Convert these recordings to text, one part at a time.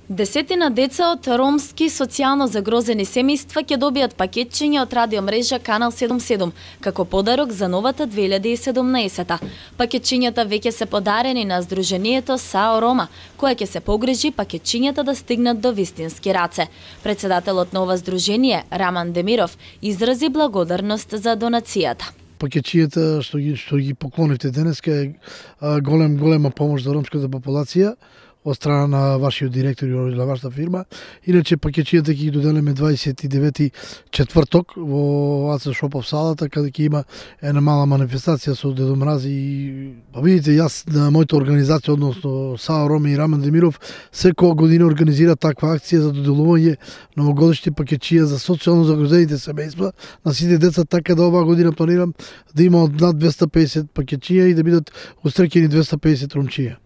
Десетина деца од ромски социјално загрозени семејства ќе добијат пакетчиња од радиомрежа Канал 77 како подарок за новата 2017. Пакетчињата веќе се подарени на Сдруженијето САО Рома, која ќе се погрижи пакетчињата да стигнат до вистински раце. Председателот на ова здружение, Раман Демиров, изрази благодарност за донацијата. Пакетчињата што ги поклонивте денеска е голема помош за ромската популација од страна на вашиот директор и на вашата фирма. Иначе пакетчињата ќе ги доделиме 29 четврток во АЦ Шопов салата, каде ќе има една мала манифестација со Дедо Мрази и видите, јас на мојата организација, односно САО Рома и Раман Демиров, секоја година организира таква акција за доделување новогодишни пакетчиња за социјално загрозените семејства на сите деца, така да оваа година планирам да има од над 250 пакетчиња и да бидат устрекени 250 ромчиња.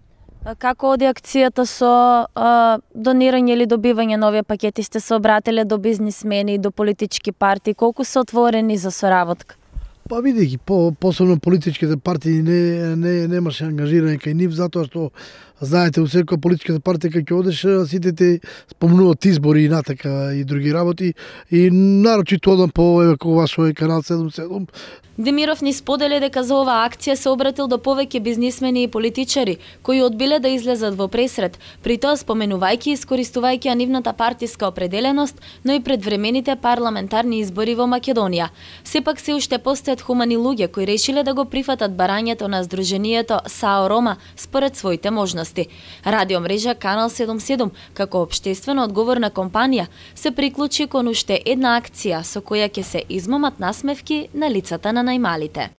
Како оди акцијата со донирање или добивање на овие пакети? Сте се обратиле до бизнисмени, до политички партии? Колку се отворени за соработка? Па видејќи, посебно политичките партии немаше ангажирање кај нив, затоа што знаете, у секоја политичката партија кај ќе одеш, сите те спомнуваат избори и натака и други работи, и нарочито одам по вашој Канал 77. Демиров ни сподели дека за оваа акција се обратил до повеќе бизнисмени и политичари, кои одбиле да излезат во пресрет, при тоа споменувајќи и искористувајќи нивната партиска определеност, но и предвремените парламентарни избори во Македонија. Сепак се уште постојат хумани луѓе кои решиле да го прифатат барањето на Сдруженијето САО Рома според своите можности. Радиомрежа Канал 77, како општествено одговорна компанија, се приклучи кон уште една акција со која ќе се измамат насмевки на лицата на најмалите.